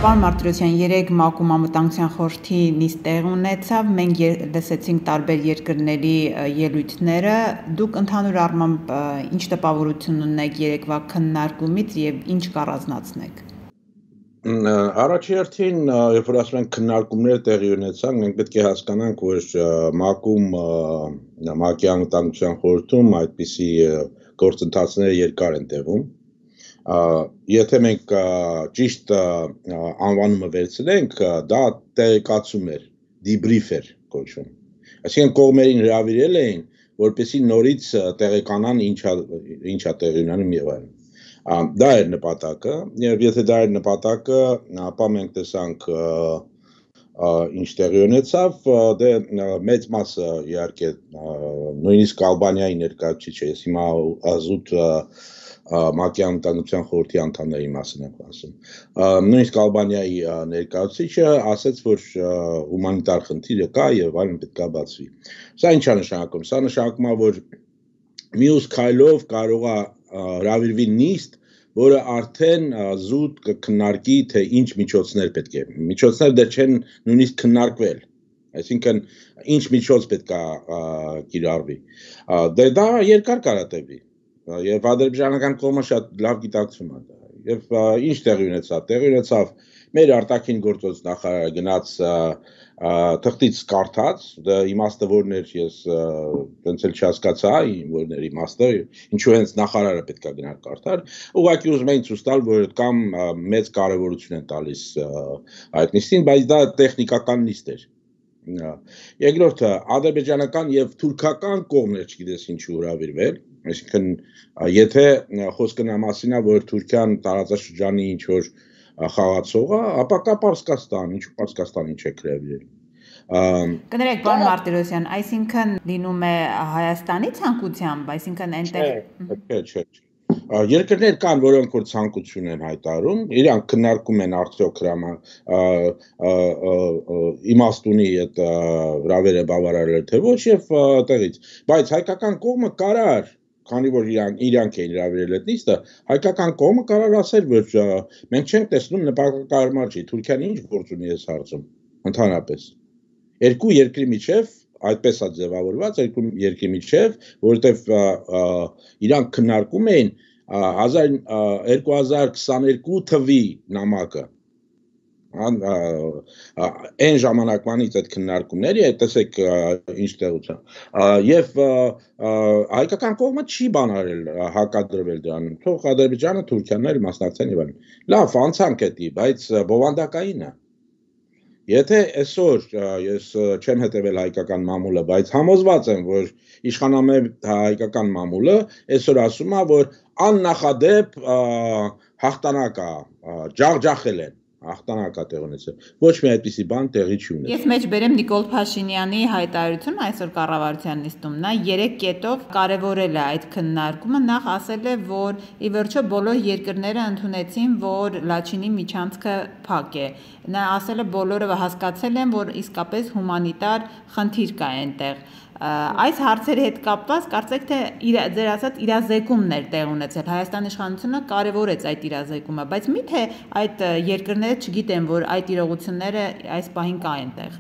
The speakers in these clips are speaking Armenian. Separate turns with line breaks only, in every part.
Պարոն Մարտիրոսյան, երեկ ՄԱԿ-ում անվտանգության խորհրդի նիստ տեղ ունեցավ, մենք լսեցինք տարբեր երկրների ելույթները, դուք ընդհանուր առմամբ ինչ տպավորություն ունեք երեկվա քննարկումից եւ ինչ կառանձնացնեք։
Առաջի հերթին, երբ որ ասում ենք քննարկումներ տեղի ունեցան, մենք պետք է հասկանանք, որ ՄԱԿ-ում, ՄԱԿ-ի անվտանգության խորհրդում այդպիսի գործընթացները երկար են տևում։ Եթե մենք ճիշտ անվանումը վերցնենք, դա տեղեկացում էր, դիբրիֆ էր կոչվում։ Այսինքն կողմերին հրավիրել էին, որպեսզի նորից տեղեկանան ինչա տեղի ունենում եւ այլն։ Դա էր նպատակը, եւ եթե դա էր նպատակը, ապա մենք տեսանք ինչ տեղի ունեցավ, դե մեծ մասը իհարկե նույնիսկ Ալբանիայի ներկայացուցիչը, ես հիմա ազուտ ՄԱԿ-ի անվտանգության խորհրդի անդամների մասին եմ ասում։ Նույնիսկ Ալբանիայի ներկայացուցիչը ասաց, որ հումանիտար խնդիրը կա եւ այլն պետք է բացվի։ Սա ինչ է նշանակում։ Սա նշանակում է, որ մյուս քայլով կարող է հրավիրվի նիստ, որը արդեն զուտ կքննարկի, թե ինչ միջոցներ պետք է։ Միջոցները դեռ չեն նույնիսկ քննարկվել։ Այսինքն ինչ միջոց պետք է կիրառվի։ Դե դա երկար կարա եւ ադրբեջանական կողմը շատ լավ գիտակցում է դա։ Եվ ինչ տեղի ունեցավ։ Տեղի ունեցավ մեր արտաքին գործոց նախարարը գնաց թղթից կարդաց, դա իմաստը որն էր, ես ոնց էլ չհասկացա, որն էր իմաստը, ինչու հենց նախարարը պետք է գնար կարդար, ուղղակի ուզում էին ցույց տալ, որ կամ մեծ կարևորություն են տալիս այդ նիստին, բայց դա տեխնիկական նիստ էր։ Երկրորդը, ադրբեջանական եւ թուրքական կողմներ չգիտես ինչու հրավիրվել, այսինքն եթե խոսքը նա մասին է, որ Թուրքիան տարածաշրջանի ինչ որ խաղացող է, ապա կա Պարսկաստան, ինչու Պարսկաստանին չեք հրավիրել։
Կներեք, պարոն Մարտիրոսյան, այսինքն լինում է Հայաստանի ցանկությամբ, այսինքն այնտեղ
Չէ։ Երկրներ կան, որոնք որ ցանկություն են հայտարարում, իրանք քննարկում են արդյոք իմաստ ունի այդ հրավերը բավարարել թե ոչ եւ տեղից, բայց հայկական կողմը կարար, քանի որ իրանք էին հրավիրել այդ նիստը, հայկական կողմը կարար ասել, որ մենք չենք տեսնում նպատակահարմար չի, Թուրքիան ինչ գործ ունի այս հարցում, ընդհանրապես։ Երկու երկրի միջև այդպես է ձևավորված, երկու երկրի միջև, որովհետև իրանք քննարկում էին 2022 թվի նամակը, այն ժամանակվանից այդ քննարկումների, տեսեք ինչ տեղության, եւ հայկական կողմը չի բանարել հակադրվել դրան, թող Ադրբեջանը, Թուրքիան էլ մասնակցեն եւ այլն։ Լավ, անցանք էդի, բայց բովանդակային է։ Եթե այսօր ես չեմ հետևել հայկական մամուլը, բայց համոզված եմ, որ իշխանամետ հայկական մամուլը այսօր ասում է, որ աննախադեպ հաղթանակ է, ջախջախել են, հաղթանակ է տեղ ունեցել։ Ոչ մի այդպիսի բան տեղի չի ունեցել։
Ես մեջ բերեմ Նիկոլ Փաշինյանի հայտարարությունը այսօր կառավարության նիստում, նա 3 կետով կարևորել է այդ քննարկումը, նախ ասել է, որ ի վերջո բոլոր երկրները ընդունեցին, որ Լաչինի միջանցքը փակ է։ Նա ասել է բոլորը հասկացել են, որ իսկապես հումանիտար խնդիր կա այնտեղ։ Այս հարցերի հետ կապված կարծեք թե ձեր ասած իրազեկումներ տեղ ունեցել, Հայաստանի իշխանությունը կարևորեց այդ իրազեկումը, բայց միթե այդ երկրները չգիտեն, որ այդ իրողությունները այս պահին կա այնտեղ։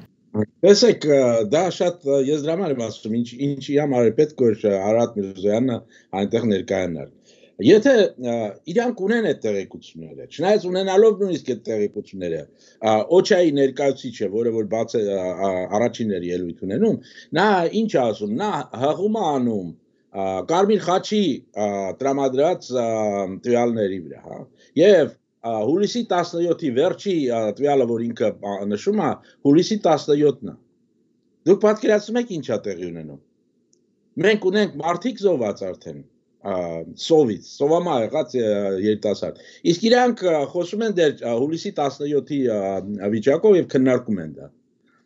Տեսեք, դա շատ ես դրա համար եմ ասում, ինչի համար է պետք որ Արարատ Միրզոյանը այնտեղ ներկայանար։ Եթե իրանք ունեն այդ տեղեկությունները, չնայած ունենալով նույնիսկ այդ տեղեկությունները, Օչայի ներկայացուցիչը, որը որ բաց է առաջիններ ելույթ ունենում, նա ինչ է ասում, նա հղում է անում Կարմիր խաչի տրամադրած տվյալների վրա, հա, եւ հուլիսի 17-ի վերջի տվյալը, որ ինքը նշում է, հուլիսի 17-ն է։ Դուք պատկերացնում եք ինչ է տեղի ունենում։ Մենք ունենք մարդիկ զոհված արդեն սովից, սովամա եղած երիտասարդ։ Իսկ իրանք խոսում են դեռ հուլիսի 17-ի վիճակով եւ քննարկում են դա։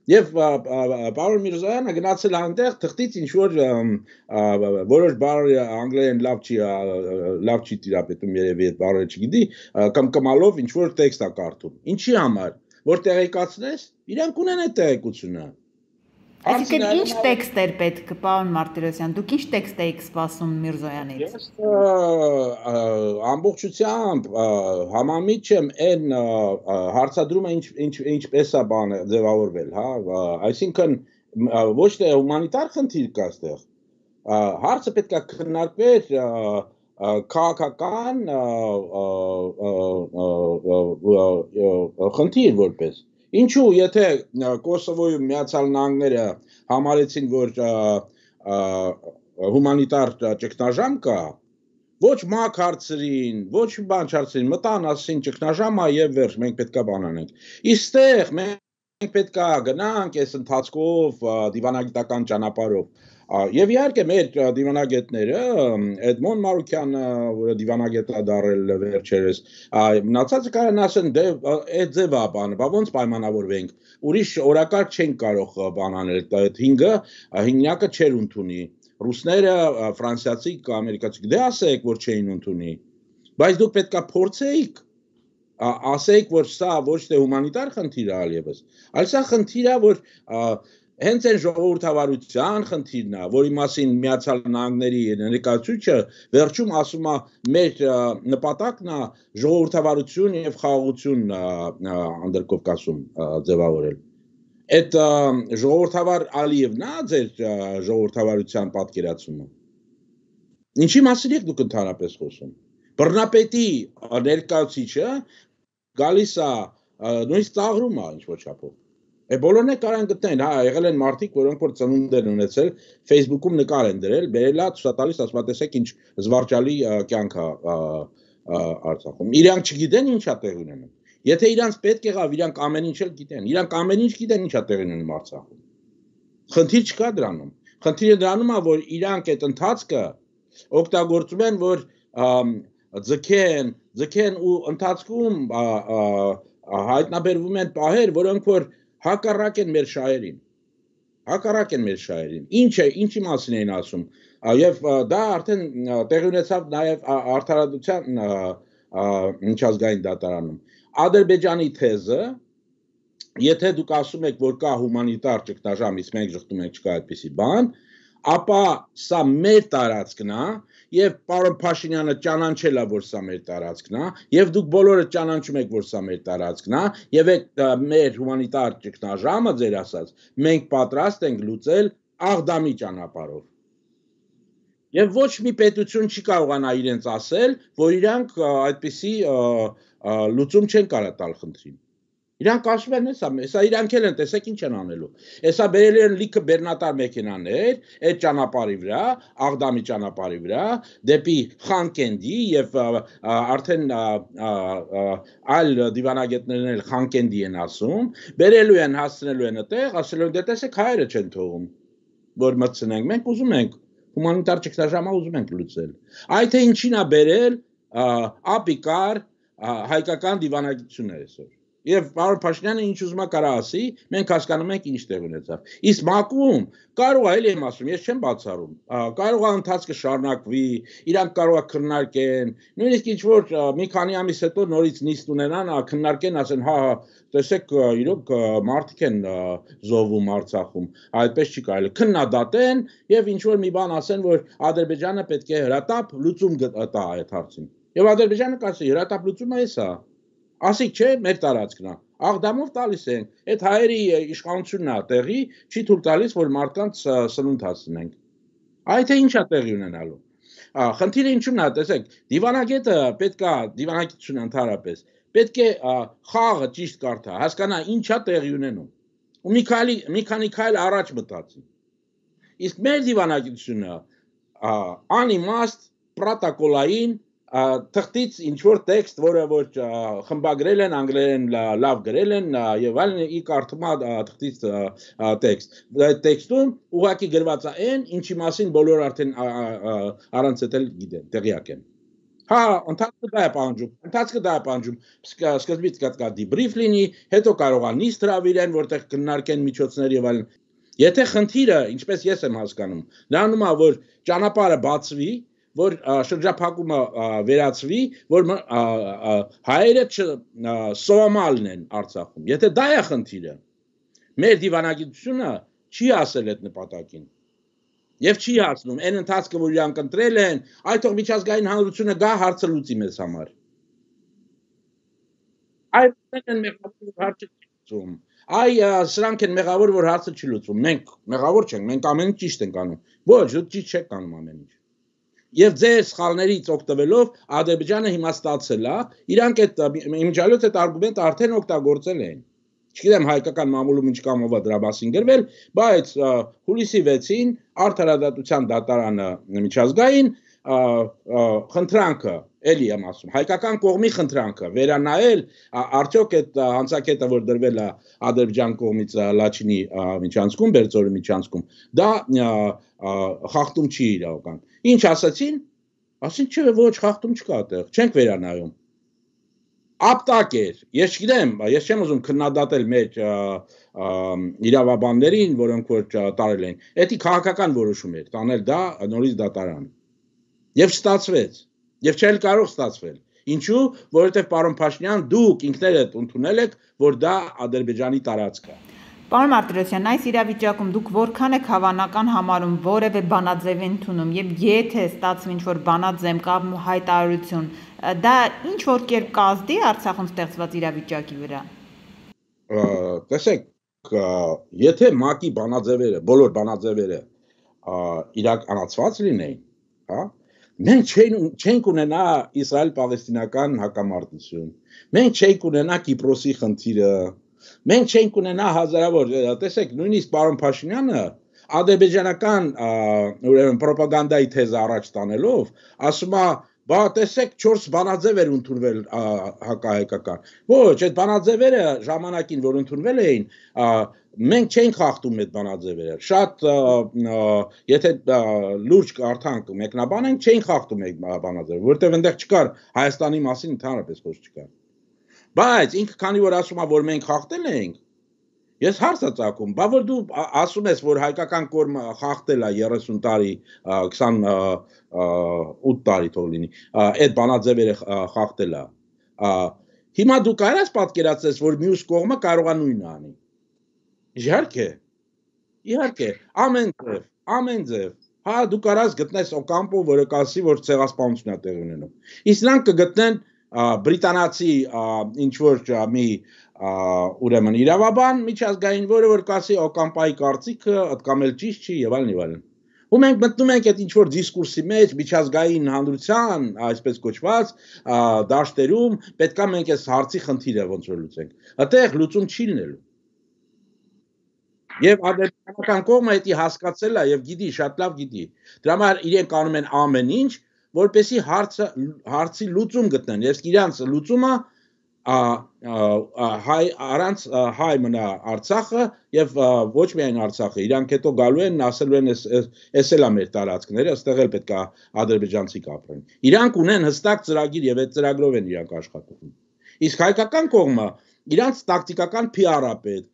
Եվ պարոն Միրզոյանը գնացել այնտեղ թղթից ինչ որ որոշ բառեր անգլերեն լավ չի տիրապետում երևի այդ բառերը չգիտի, կմկմալով ինչ որ տեքստ է կարդում։ Ինչի համար, որ տեղեկացնես, իրանք ունեն այդ տեղեկությունը։
Այսինքն ինչ տեքստեր պետք, պարոն Մարտիրոսյան, դուք ինչ տեքստ եք սպասում Միրզոյանից։
Ես ամբողջությամբ համամիջ եմ այն հարցադրումը ինչպես է բանը ձևավորվել, հա, այսինքն ոչ թե հումանիտար խնդիր կա այստեղ, հարցը պետք է քննարկվեր քաղաքական խնդիր որպես ինչու եթե Կոսովոյում Միացյալ Նահանգները համարեցին որ հումանիտար ճգնաժամ կա ոչ մակ հարցրին ոչ բան չարցրին մտան ասին ճգնաժամա եւ վերջ մենք պետքա բան անենք իստեղ մենք պետքա գնանք այս ընթացքով դիվանագիտական ճանապարհով Եվ իհարկե մեր դիվանագետները Էդմոն Մարուկյանը, որը դիվանագետ է դարել վերջերս, մնացածը կարան ասեն, դե այդ ձևա բանը, բա ոնց պայմանավորվենք, ուրիշ օրակարգ չենք կարող բան անել, այդ 5-ը հիմնակը չեր ընդունի, ռուսները, ֆրանսիացի, ամերիկացի, դե ասեք, որ չէին ընդունի, բայց դուք պետքա փորձեիք, ասեիք, որ սա ոչ թե հումանիտար խնդիր է այլևս, այլ սա խնդիր է, որ Հենց այն ժողովրդավարության խնդիրն է, որի մասին Միացյալ Նահանգների ներկայացուցիչը վերջում ասում է մեր նպատակն է ժողովրդավարություն եւ խաղաղություն Անդրկովկասում ձևավորել։ Այդ ժողովրդավար Ալիևն է ձեր ժողովրդավարության պատկերացումը։ Ինչի մասին եք դուք ընդհանրապես խոսում։ Բռնապետի ներկայացուցիչը գալիս է նույնիսկ ծաղրում է ինչ-որ չափով։ Բոլորն է կարան գտնեն, հա, եղել են մարդիկ, որոնք որ ծնունդ են ունեցել, Facebook-ում նկար են դրել, բերելա ցուցատալիս, ասում տեսեք ինչ զվարճալի կյանք է Արցախում։ Իրանք չգիտեն ինչա տեղ ունենում։ Եթե իրանք պետք եղավ, իրանք ամեն ինչ էլ գիտեն։ Իրանք ամեն ինչ գիտեն ինչա տեղ ունենում Արցախում։ Խնդիր չկա դրանում։ Խնդիրը դրանում է, որ իրանք այդ ընթացքը օգտագործում են, որ ձգեն ու ընթացքում հայտնաբերվում են պահեր, որոնք որ հակառակ են մեր շահերին, ինչի մասին էին ասում, և դա արդեն տեղի ունեցավ նաև արդարադատության միջազգային դատարանում, Ադրբեջանի թեզը, եթե դուք ասում եք, որ կա հումանիտար ճգնաժամ, իսկ մենք ժխտում ենք չկա այդպիսի բան, ապա սա մեր տարածքն է, և պարոն Փաշինյանը ճանաչել է, որ սա մեր տարածքն է, և դուք բոլորը ճանաչում եք, որ սա մեր տարածքն է, և այդ մեր հումանիտար ճգնաժամը ձեր ասած, մենք պատրաստ ենք լուծել Աղդամի ճանապարհով։ Եվ ոչ մի պետություն չի կարողանա իրենց ասել, որ իրանք այդպիսի լուծում չեն կարող տալ խնդրին։ Իրանք ասում են, հեսա իրանք էլ են, տեսեք ինչ են անելու։ Հեսա բերել են լիքը բեռնատար մեքենաներ, այդ ճանապարհի վրա, Աղդամի ճանապարհի վրա, դեպի Խանկենդի եւ արդեն այլ դիվանագետներն էլ Խանկենդի են ասում, բերելու են, հասցնելու են այդտեղ, ասելու են, դե տեսեք հայերը չեն թողում, որ մտցնենք, մենք ուզում ենք հումանիտար ճգնաժամը ուզում ենք լուծել։ Այդ թե ինչին է բերել ապիկար հայկական դիվանագիտությունները այսօր։ Եվ պարոն Փաշինյանը ինչ ուզում է կարա ասի, մենք հասկանում ենք ինչ տեղ ունեցավ։ Իսկ ՄԱԿ-ում կարող է, էլի եմ ասում, ես չեմ բացառում, կարող է ընթացքը շարունակվի, իրանք կարող է քննարկեն, նույնիսկ ինչ որ մի քանի ամիս հետո նորից նիստ ունենան, քննարկեն, ասեն, հա, տեսեք, իրոք մարդիկ են զոհվում Արցախում, այդպես չի կարելի, քննադատեն եւ ինչ որ մի բան ասեն, որ Ադրբեջանը պետք է հրատապ լուծում տա այդ հարցին։ Եվ Ադրբեջանը կասի, հրատապ լուծումը էս է։ Ասիկ չէ, մեր տարածքն է, Աղդամով տալիս են, այդ հայերի իշխանությունն է տեղի, չի թույլ տալիս, որ մարդկանց սնունդ հասցնենք։ Այդ թե ինչ է տեղի ունենալու։ Խնդիրը ինչու՞մն է, տեսեք, դիվանագետը պետք է դիվանագիտությունը ընդհանրապես, պետք է խաղը ճիշտ կարդա, հասկանա ինչ է տեղի ունենում։ Ու մի քանի քայլ առաջ մտածի։ Իսկ մեր դիվանագիտությունը անիմաստ, պրոտոկոլային թղթից ինչ-որ տեքստ, որը որ խմբագրել են, անգլերեն լավ գրել են և այլն ի կարդումա թղթից տեքստ։ Այդ տեքստում ուղղակի գրված է այն, ինչի մասին բոլոր արդեն առանց էլ գիտեն, տեղյակ են։ Հա, ընթացքը դա է պահանջում, սկզբից կա դիբրիֆ լինի, հետո կարող է նիստ հրավիրեն, որտեղ քննարկեն միջոցներ եւ այլն։ Եթե խնդիրը, ինչպես ես եմ հասկանում, դառնում է, որ ճանապարհը բացվի, որ շրջափակումը վերացվի, որ հայերը սովամալն են Արցախում։ Եթե դա է խնդիրը, մեր դիվանագիտությունը չի ասել այդ նպատակին։ Եվ չի հասնում այն ընթացքը, որ իրանք ընտրել են, այդ թող միջազգային հանրությունը գա հարցը լուծի մեզ համար։ Այդ են մեղավոր հարցը չի լուծում։ Սրանք են մեղավոր, որ հարցը չի լուծում։ Մենք մեղավոր չենք, մենք ամեն ինչ ճիշտ ենք անում։ Ոչ, դուք ճիշտ չեք անում ամեն ինչ։ Եվ ձեր սխալներից օգտվելով Ադրբեջանը հիմա ստացել է, իրանք այդ իմիջիալոց այդ արգումենտը արդեն օգտագործել են։ Չգիտեմ հայկական մամուլում ինչ կամով է դրա մասին գրվել, բայց հուլիսի 6-ին Արդարադատության դատարանը միջազգային խնդրանքը, էլի եմ ասում, հայկական կողմի խնդրանքը վերանայել արդյոք այդ հանցակետը, որ դրվել է Ադրբեջան կողմից Լաչինի միջանցքում, Բերձորի միջանցքում, դա խախտում չի իրավական։ Ինչ ասացին? Ասին չէ, ոչ, խախտում չկա այդտեղ, չենք վերանայում։ Ապտակ էր, ես չգիտեմ, ես չեմ ուզում քննադատել մեր իրավաբաններին, որոնք որ տարել են։ Դա քաղաքական որոշում էր, տանել դա նորից դատարան։ Եվ ստացվեց, եւ չէր կարող ստացվել։ Ինչու՞, որովհետեւ պարոն Փաշինյան, դուք ինքներդ ընդունել եք, որ դա Ադրբեջանի տարածք է։
Պարոն Մարտիրոսյան, այս իրավիճակում դուք որքան եք հավանական համարում որևէ բանաձև ընդունում եւ եթե ստացվի ինչ-որ բանաձև կամ հայտարարություն, դա ինչ որ կերպ կազդի Արցախում ստեղծված իրավիճակի վրա։
Տեսեք, եթե ՄԱԿ-ի բանաձևերը, բոլոր բանաձևերը իրականացված լինեին, հա, մենք չենք ունենա Իսրայել-Պալեստինական հակամարտություն, մենք չենք ունենա Կիպրոսի խնդիրը, մենք չենք ունենա հազարավոր, տեսեք, նույնիսկ պարոն Փաշինյանը ադրբեջանական ուրեմն պրոպագանդայի թեզը առաջ տանելով, ասում է, բա տեսեք 4 բանաձև էր ընդունվել հակահայկական։ Ոչ, այդ բանաձևերը ժամանակին, որ ընդունվել էին, մենք չենք խախտում այդ բանաձևերը։ Շատ եթե լուրջ կարդանք մեկնաբանենք, չենք խախտում այդ բանաձևը, որովհետև այնտեղ չկար Հայաստանի մասին ընդհանրապես խոսք չկար։ Բայց ինքը քանի որ ասում է, որ մենք խախտել ենք, ես հարց եմ ծագում, բա որ դու ասում ես, որ հայկական կողմը խախտել է 30 տարի, 28 տարի թող լինի, այդ բանաձևերը խախտել է։ Հիմա դու կարաս պատկերացնես, որ մյուս կողմը կարող է նույնը անի։ Իհարկե, ամեն ձև։ Հա դու կարաս գտնես Օկամպո, որը կասի, որ ցեղասպանություն է տեղի ունենում։ Իսկ նրանք կգտնեն բրիտանացի ինչ որ մի ուրեմն իրավաբան միջազգային, որը որ կասի Օկամպայի կարծիքը ըդկամ էլ ճիշտ չի եւ այլն եւ այլն։ Ու մենք մտնում ենք այդ ինչ որ դիսկուրսի մեջ միջազգային հանրության, այսպես կոչված, դաշտերում, պետքա մենք այս հարցի խնդիրը ոնց որ լուծենք։ Այդտեղ լուծում չի լինելու։ Եվ ադրբեջանական կողմը դա հասկացել է եւ գիտի, շատ լավ գիտի։ Դրա համար իրենք անում են ամեն ինչ, որպեսզի հարցի լուծում գտնեն, եւ իրանց լուծումը առանց հայ մնա Արցախը եւ ոչ միայն Արցախը, իրանք հետո գալու են, ասելու են էս էլ է մեր տարածքները, այստեղ էլ պետք է ադրբեջանցիք ապրեն։ Իրանք ունեն հստակ ծրագիր եւ այդ ծրագրով են իրանք աշխատում։ Իսկ հայկական կողմը իրանք տակտիկական PR-ը պետք,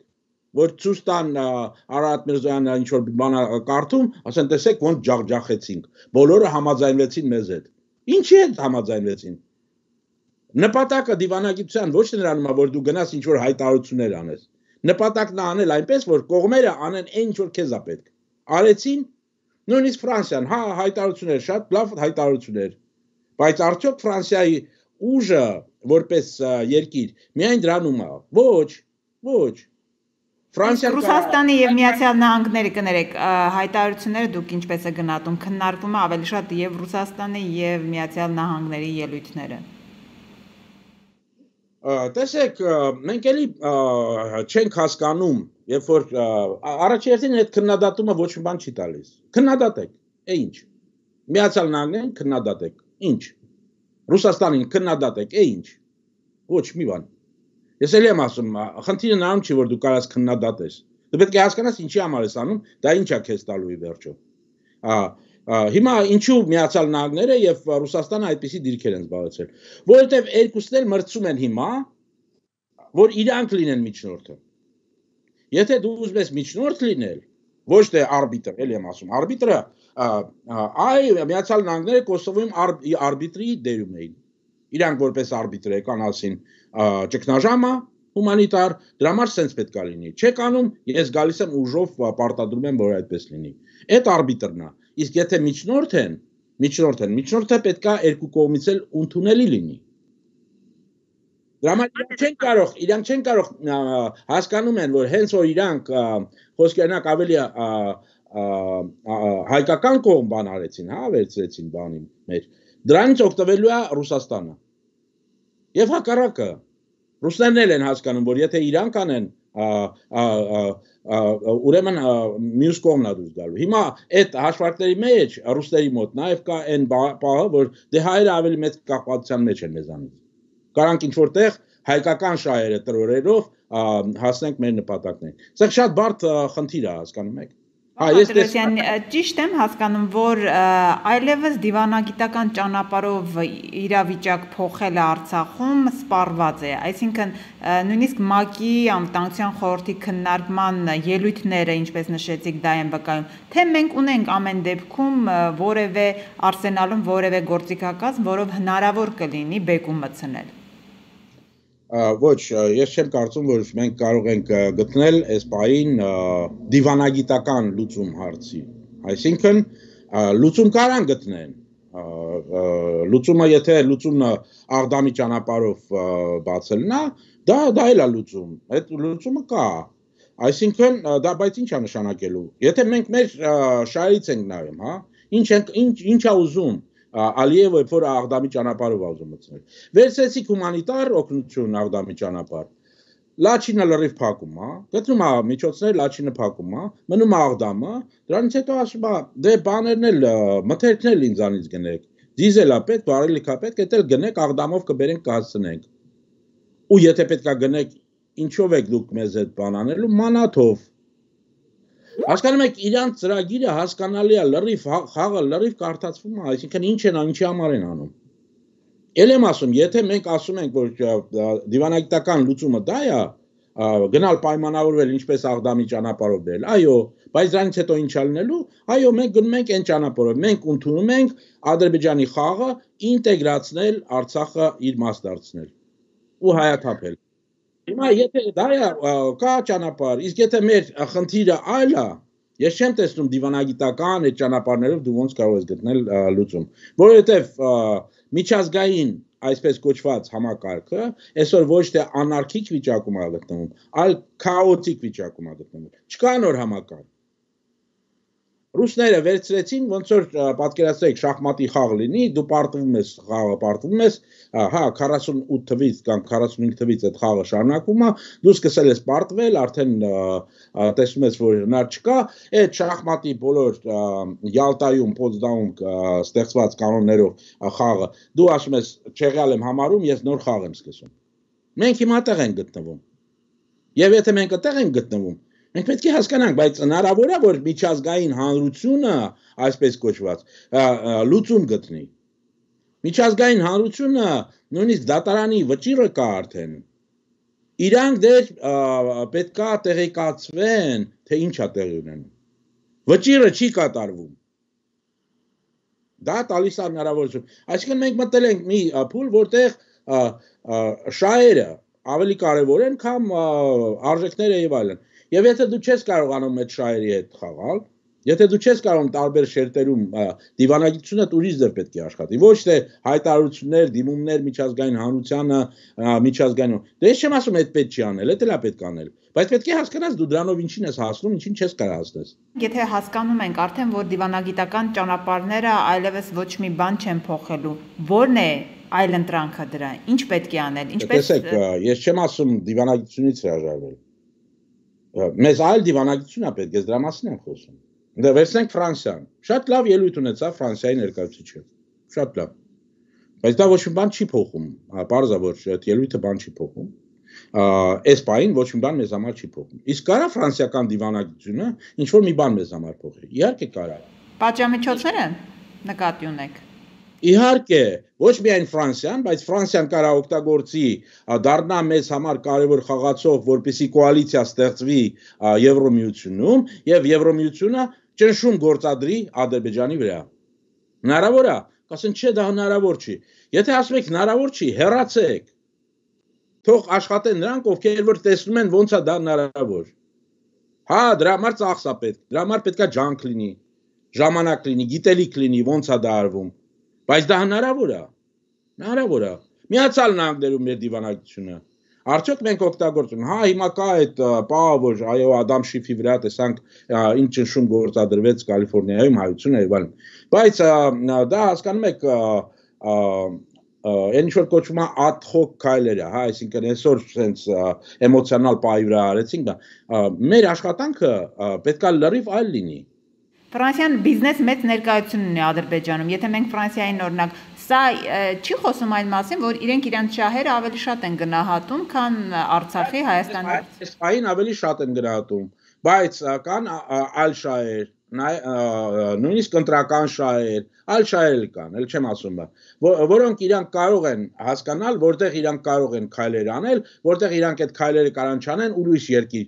որ ցույց տան Արարատ Միրզոյանը ինչ որ բան կարդում, ասեն տեսեք ոնց ջախջախեցինք։ Բոլորը համաձայնվեցին մեզ հետ։ Ինչի հետ համաձայնվեցին։ Նպատակը դիվանագիտության ոչ թե նրանում է, որ դու գնաս ինչ որ հայտարարություններ անես։ Նպատակն է անել այնպես, որ կողմերը անեն այն ինչ որ քեզ է պետք։ Արեցին նույնիսկ Ֆրանսիան, հա, հայտարարություններ, շատ լավ հայտարարություններ։ Բայց արդյոք Ֆրանսիայի ուժը որպես երկիր միայն դրանում է։ Ոչ։
Ռուսաստանի եւ Միացյալ Նահանգների կներեք հայտարարությունները դուք ինչպես է գնահատում, քննարկվում է ավելի շատ եւ Ռուսաստանի եւ Միացյալ Նահանգների ելույթները։
Տեսեք, մենք էլի չենք հասկանում, երբ որ առաջերտին այդ քննադատումը ոչ մի բան չի տալիս։ Քննադատեք, ինչ։ Միացյալ Նահանգներին քննադատեք, ինչ։ Ռուսաստանին քննադատեք, ինչ։ Ոչ մի բան։ Ես էլ եմ ասում, խնդիրը նրանում չի, որ դու կարաս քննադատես։ Դու պետք է հասկանաս ինչի համար ես անում, դա ինչ է քեզ տալու ի վերջո։ Հիմա ինչու Միացյալ Նահանգները եւ Ռուսաստանը այդպիսի դիրքեր են զբաղեցրել, որովհետեւ երկուսն էլ մրցում են հիմա, որ իրանք լինեն միջնորդը։ Եթե դու ուզում ես միջնորդ լինել, ոչ թե արբիտր, էլ եմ ասում, արբիտրը, Միացյալ Նահանգները Կոսովոյում արբիտրի դերում էին։ Իրանք որպես արբիտր եկան ասին ճգնաժամը, հումանիտար, դրա համար սենց պետք է լինի։ Չեք անում, ես գալիս եմ ուժով պարտադրում եմ, որ այդպես լինի։ Այդ արբիտրն է։ Իսկ եթե միջնորդը պետք է երկու կողմից էլ ընդունելի լինի։ Դրա համար իրանք չեն կարող հասկանում են, որ հենց որ իրանք խոսքերնակ ավելի հայկական կողմ բան արեցին, հա, վերցրեցին բանի մեր։ Դրանից օգտվելու է Ռուսաստանը։ Եվ հակառակը ռուսներն էլ են հասկանում, որ եթե իրանք անեն, ուրեմն մյուս կողմն է դուրս գալու։ Հիմա այդ հաշվարկների մեջ ռուսների մոտ նաև կա այն պահը, որ դե հայերը ավելի մեծ կախվածության մեջ են մեզանից։ Կարանք ինչ որտեղ հայկական շահերը տրորերով հասնենք մեր նպատակներին։ Սա շատ բարդ խնդիր է, հասկանում եք։
Ճիշտ եմ հասկանում, որ այլևս դիվանագիտական ճանապարհով իրավիճակ փոխելը Արցախում սպառված է, այսինքն նույնիսկ ՄԱԿ-ի անվտանգության խորհրդի քննարկման ելույթները, ինչպես նշեցիք, դա են վկայում, թե մենք ունենք ամեն դեպքում որևէ արսենալում որևէ գործիքակազմ, որով հնարավոր կլինի բեկում մտցնել։
Ոչ, ես չեմ կարծում, որ մենք կարող ենք գտնել այս պահին դիվանագիտական լուծում հարցի։ Այսինքն լուծում կարան գտնեն։ Լուծումը, եթե լուծումն աղդամի ճանապարհով բացելն է, դա էլ է լուծում։ Այդ լուծումը կա։ Այսինքն դա բայց ինչ է նշանակելու։ Եթե մենք մեր շահերից ենք նայում, հա, ինչ է ուզում Ալիևը, որ աղդամի ճանապարհով ուզում մտցնել։ Վերցրեցիք հումանիտար օգնություն աղդամի ճանապարհ։ Լաչինը լրիվ փակում է, գտնում է միջոցներ, Լաչինը փակում է, մնում է աղդամը, դրանից հետո ասում է, դե բաներն էլ մթերքն էլ ինձանից գնեք։ Դիզելա պետք, վարելիքա պետք, դա էլ գնեք աղդամով կբերենք կհասցնենք։ Ու եթե պետքա գնեք, ինչով եք դուք մեզ այդ բան անելու, մանաթով։ Հասկանում եք, իրանց ծրագիրը հասկանալի է, լրիվ խաղը լրիվ կարդացվում է, այսինքն ինչի համար են անում։ Էլ եմ ասում, եթե մենք ասում ենք, որ դիվանագիտական լուծումը դա է, գնալ պայմանավորվել ինչպես աղդամի ճանապարհով բերել, այո, բայց դրանից հետո ինչ է լինելու, այո, մենք գնում ենք այն ճանապարհով, մենք ընդունում ենք Ադրբեջանի խաղը ինտեգրացնել Արցախը իր մաս դարձնել ու հայաթափել։ Հիմա եթե դա է կա ճանապարհ, իսկ եթե մեր խնդիրը այլ է, ես չեմ տեսնում դիվանագիտական այդ ճանապարհներով դու ոնց կարող ես գտնել լուծում, որովհետև միջազգային այսպես կոչված համակարգը այսօր ոչ թե անարքիկ վիճակում է գտնվում, այլ քաոտիկ վիճակում է գտնվում։ Չկա նոր համակարգ։ Ռուսները վերցրեցին, ոնց որ պատկերացրեք շախմատի խաղ լինի, դու պարտվում ես, խաղը պարտվում ես, հա 48 թվից կամ 45 թվից այդ խաղը շարունակվում է, դու սկսել ես պարտվել, արդեն տեսնում ես, որ հնար չկա, այդ շախմատի բոլոր Յալտայում, Պոցդամում ստեղծված կանոններով խաղը, դու ասում ես, չեղյալ եմ համարում, ես նոր խաղ եմ սկսում։ Մենք հիմա այդտեղ ենք գտնվում։ Եվ եթե մենք այդտեղ ենք գտնվում, մենք պետք է հասկանանք, բայց հնարավոր է, որ միջազգային հանրությունը, այսպես կոչված, լուծում գտնի։ Միջազգային հանրությունը նույնիսկ դատարանի վճիռը կա արդեն։ Իրանք դեռ պետք է տեղեկացվեն, թե ինչ է տեղի ունենում։ Վճիռը չի կատարվում։ Դա տալիս է հնարավորություն։ Այսինքն մենք մտել ենք մի փուլ, որտեղ շահերը ավելի կարևոր են, քան արժեքները եւ այլն։ Եվ եթե դու չես կարողանում այդ շահերի հետ խաղալ, եթե դու չես կարողանում տարբեր շերտերում դիվանագիտությունը ուրիշ ձև պետք է աշխատի, ոչ թե հայտարարություններ, դիմումներ միջազգային հանրությանը, միջազգային։ Դե ես չեմ ասում այդ պետք չի անել, դա էլ է պետք անել, բայց պետք է հասկանաս դու դրանով ինչին ես հասնում, ինչին չես կարող հասնես։
Եթե հասկանում ենք արդեն, որ դիվանագիտական ճանապարհները այլևս ոչ մի բան չեն փոխելու, ո՞րն է այլ ընտրանքը դրա, ինչ պետք է անել, ինչպես։
Տեսեք, ես չեմ ասում դիվանագիտությունից հրաժարվել։ Մեզ այլ դիվանագիտություն է պետք, ես դրա մասին եմ խոսում։ Դե վերցնենք Ֆրանսիան։ Շատ լավ ելույթ ունեցավ Ֆրանսիայի ներկայացուցիչը։ Շատ լավ։ Բայց դա ոչ մի բան չի փոխում։ Պարզ է, որ այդ ելույթը բան չի փոխում։ Այս պահին ոչ մի բան մեզ համար չի փոխում։ Իսկ կարա ֆրանսիական դիվանագիտությունը ինչ որ մի բան մեզ համար փոխի։ Իհարկե կարա։
Պատժամիջոցները նկատի ունեք։
Իհարկե, ոչ միայն Ֆրանսիան, բայց Ֆրանսիան կարա օգտագործի դառնա մեզ համար կարևոր խաղացող, որպեսզի կոալիցիա ստեղծվի Եվրոմիությունում եւ Եվրոմիությունը ճնշում գործադրի Ադրբեջանի վրա։ Հնարավոր է, կասեն չէ, դա հնարավոր չի։ Եթե ասում եք հնարավոր չի, հեռացեք։ թող աշխատեն նրանք, ովքեր որ տեսնում են ոնց է դա հնարավոր։ Հա, դրա համար ծախս է պետք, դրա համար պետքա ջանք լինի, ժամանակ լինի, գիտելիք լինի, ոնց է դա արվում։ Բայց դա հնարավոր է։ Հնարավոր է։ Միացյալ Նահանգներում մեր դիվանագիտությունը։ Արդյոք մենք օգտագործում։ Հա, հիմա կա այդ պահը, որ այո, Ադամ Շիֆի վրա տեսանք ինչ ճնշում գործադրվեց Կալիֆոռնիայում, հայությունը եւ այլն։ Բայց դա հասկանում եք այն ինչ որ կոչվում է ad hoc քայլերը, հա, այսինքն այսօր sense էմոցիոնալ պահի վրա արեցինք դա։ Մեր աշխատանքը պետքա լրիվ այլ լինի։
Ֆրանսիան բիզնես մեծ ներկայություն ունի Ադրբեջանում։ Եթե մենք Ֆրանսիային օրինակ սա չի խոսում այն մասին, որ իրենք իրանց շահերը ավելի շատ են գնահատում, քան Արցախի, Հայաստանի։
Այն ավելի շատ են գնահատում, բայց կան այլ շահեր, նույնիսկ ընտրական շահեր, այլ շահեր կան, էլ չեմ ասում, որոնք իրանք կարող են հասկանալ, որտեղ իրանք կարող են քայլեր անել, որտեղ իրանք այդ քայլերը կարան չանեն ուրիշ երկիր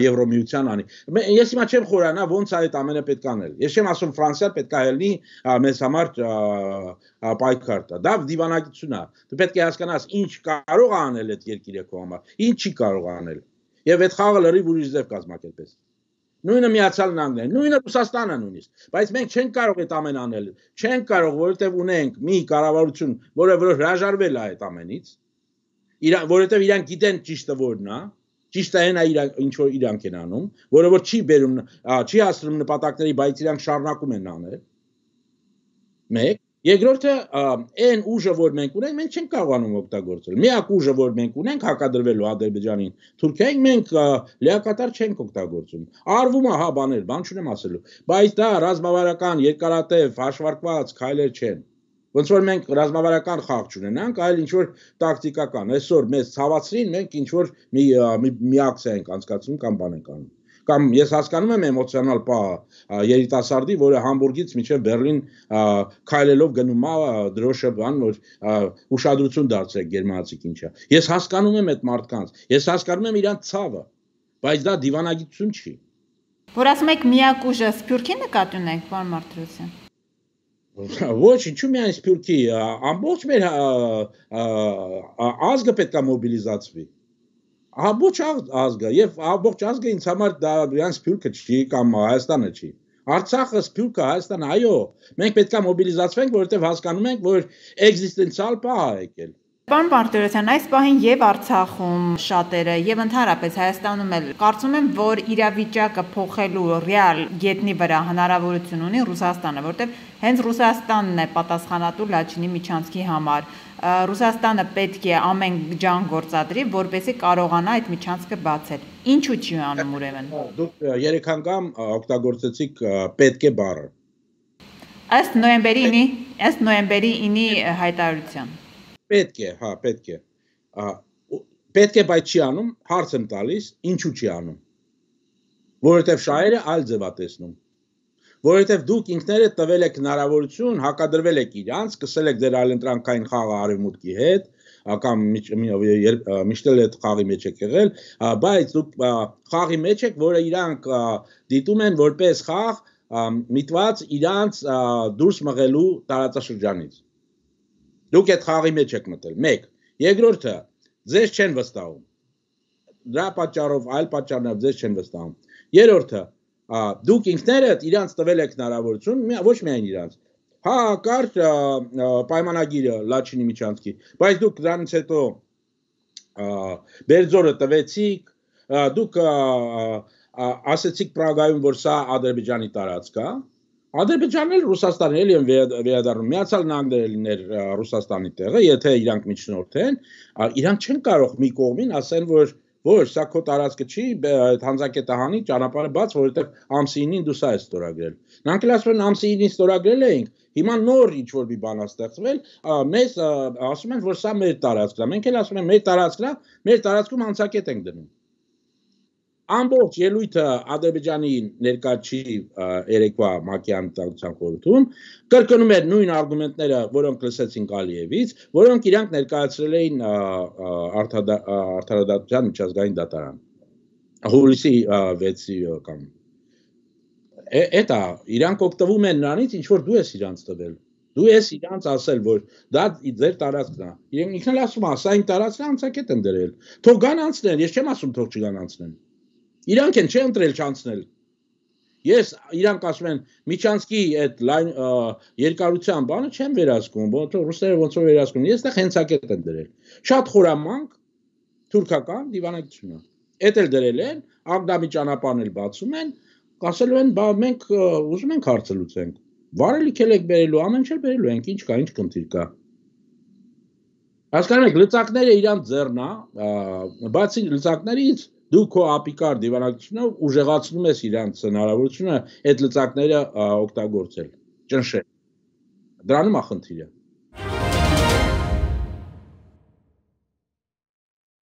Եվրոմիության անի։ Ես հիմա չեմ խորանա ոնց է այդ ամենը պետք անել։ Ես չեմ ասում Ֆրանսիան պետք է ելնի մեզ համար պայքար տա։ Դա դիվանագիտություն է։ Դու պետք է հասկանաս ինչ կարող է անել այդ երկիրը քո համար, ինչ չի կարող անել։ Եվ այդ խաղը լրիվ ուրիշ ձև կազմակերպես։ Նույնը Միացյալ Նահանգներն, նույնը Ռուսաստանը նույնիսկ, բայց մենք չենք կարող այդ ամեն անել, չենք կարող, որովհետև ունենք մի կառավարություն, որը հրաժարվել է այդ ամենից, որովհետև իրանք գիտեն ճիշտը որն է, ճիշտը այն է ինչ որ իրանք են անում, որը որ չի բերում, չի հասնում նպատակների, բայց իրանք շարունակում են անել։ Մեկ, երկրորդը այն ուժը, որ մենք ունենք, մենք չենք կարողանում օգտագործել։ Միակ ուժը, որ մենք ունենք հակադրվելու Ադրբեջանին, Թուրքիային, մենք լիակատար չենք օգտագործում։ Արվում է, հա, բաներ, բան չունեմ ասելու, բայց դա ռազմավարական, երկարատև, հաշվարկված քայլեր չեն։ Ոնց որ մենք ռազմավարական խաղ չունենանք, այլ ինչ որ տակտիկական։ Այսօր մեզ ցավացրին, մենք ինչ որ մի ակցիա ենք անցկացնում կամ բան ենք անում։ Կամ ես հասկանում եմ էմոցիոնալ պահը երիտասարդի, որը Համբուրգից մինչև Բերլին քայլելով գնում է դրոշը բան, որ ուշադրություն դարձրեք գերմանացիք ինչա։ Ես հասկանում եմ այդ մարդկանց, ես հասկանում եմ իրանց ցավը, բայց դա դիվանագիտություն չի։
Որ ասում եք միակ ուժը Սփյուռքի նկատի ունենք, պարոն Մարտիրոսյան։
Ոչ, ինչու միայն Սփյուռքի, ամբողջ մեր ազգը պետք է մոբիլիզացվի։ Ամբողջ ազգը եւ ամբողջ ազգը ինձ համար դա իրանց Սփյուռքը չի կամ Հայաստանը չի։ Արցախը, Սփյուռքը, Հայաստանը, այո, մենք պետք է մոբիլիզացվենք, որովհետեւ հասկանում ենք, որ էկզիստենցիալ պահ է եկել։
Պարոն Մարտիրոսյան, այս պահին եւ Արցախում շատերը եւ ընդհանրապես Հայաստանում էլ կարծում եմ, որ իրավիճակը փոխելու ռեալ գետնի վրա հնարավորություն ունի Ռուսաստանը, որտեղ հենց Ռուսաստանն է պատասխանատու Լաչինի միջանցքի համար։ Ռուսաստանը պետք է ամեն ջան գործադրի, որպեսզի կարողանա այդ միջանցքը բացել։ Ինչու չի անում ուրեմն։
Դուք 3 անգամ օգտագործեցիք պետք է բառը։
Ըստ նոյեմբերի 9-ի հայտարարության։
Պետք է, հա, պետք է։ Պետք է, բայց չի անում, հարց եմ տալիս, ինչու չի անում։ Որովհետև շահերը այլ ձև է տեսնում։ Որովհետև դուք ինքներդ տվել եք հնարավորություն, հակադրվել եք իրանց, սկսել եք ձեր այլընտրանքային խաղը արևմուտքի հետ, կամ միշտ էլ այդ խաղի մեջ եք եղել, բայց դուք խաղի մեջ եք, որը իրանք դիտում են որպես խաղ միտված իրանց դուրս մղելու տարածաշրջանից։ Դուք այդ խաղի մեջ եք մտել, մեկ, երկրորդը, ձեզ չեն վստահում, դրա պատճառով, այլ պատճառներով ձեզ չեն վստահում, երրորդը, դուք ինքներդ իրանց տվել եք հնարավորություն, ոչ միայն իրանց, հա, կար պայմանագիրը Լաչինի միջանցքի, բայց դուք դրանից հետո Բերձորը տվեցիք, դուք ասեցիք Պրագայում, որ սա Ադրբեջանի տարածք է, Ադրբեջանն էլ Ռուսաստանն էլ են վերադառնում, Միացյալ Նահանգները լիներ Ռուսաստանի տեղը, եթե իրանք միջնորդեն, իրանք չեն կարող մի կողմին ասեն, որ սա քո տարածքը չի, հանձակետը հանի, ճանապարհը բաց, որովհետև ամսի 9-ին դու սա ես ստորագրել։ Նրանք էլ ասում են ամսի 9-ին ստորագրել էինք, հիմա նոր ինչ որ մի բան է ստեղծվել, մեզ ասում են, որ սա մեր տարածքն է, մենք էլ ասում ենք մեր տարածքն է, մեր տարածքում հանձակետ ենք դնում։ Ամբողջ ելույթը Ադրբեջանի ներկա չի երեկվա ՄԱԿ-ի անվտանգության խորհրդում կրկնում էր նույն արգումենտները, որոնք լսեցինք Ալիևից, որոնք իրանք ներկայացրել էին Արդարադատության միջազգային դատարան։ Հուլիսի 6-ի կամ։ Էտա իրանք օգտվում են նրանից, ինչ որ դու ես իրանց տվել։ Դու ես իրանց ասել, որ դա ձեր տարածքն է։ Իրենք ինքն էլ ասում է, սա իմ տարածքն է, անցակետ են դրել։ Թող գան անցնեն, ես չեմ ասում թող չգան անցնեն։ Իրանք են չէ ընտրել չանցնել։ Ես իրանք ասում են Միչանսկի այդ լայն երկարության բանը չեմ վերահսկում, ոնց ռուսները ոնց որ վերահսկում։ Ես դա հենցակետ են դրել։ Շատ խորամանկ թուրքական դիվանագիտություն է։ Էդ էլ դրել են, Աղդամի ճանապարհն էլ բացում են, ասելու են, բա մենք ուզում ենք հարցը լուծենք։ Վարելիք եք բերելու, ամեն ինչ բերելու ենք, ինչ կա, ինչ խնդիր կա։ Հասկանում եք, լծակները իրանց ձեռն է, բացի լծակներից դու քո ապիկար դիվանագիտությունով ուժեղացնում ես իրանց հնարավորությունը այդ լծակները օգտագործել, ճնշել։ Դրանում է խնդիրը։